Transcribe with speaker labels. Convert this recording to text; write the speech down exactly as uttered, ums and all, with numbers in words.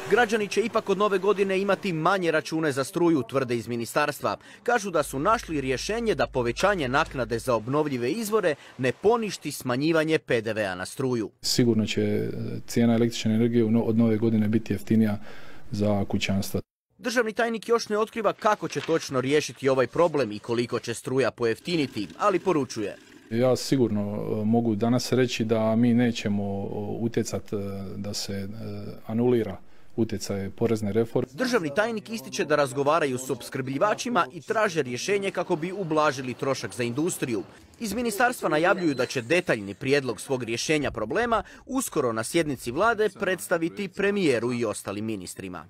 Speaker 1: Građani će ipak od nove godine imati manje račune za struju, tvrde iz ministarstva. Kažu da su našli rješenje da povećanje naknade za obnovljive izvore ne poništi smanjivanje P D V-a na struju.
Speaker 2: Sigurno će cijena električne energije od nove godine biti jeftinija za kućanstva.
Speaker 1: Državni tajnik još ne otkriva kako će točno riješiti ovaj problem i koliko će struja pojeftiniti, ali poručuje.
Speaker 2: Ja sigurno mogu danas reći da mi nećemo utjecati da se anulira utjecaj porezne reforme.
Speaker 1: Državni tajnik ističe da razgovaraju s opskrbljivačima i traže rješenje kako bi ublažili trošak za industriju. Iz ministarstva najavljuju da će detaljni prijedlog svog rješenja problema uskoro na sjednici vlade predstaviti premijeru i ostalim ministrima.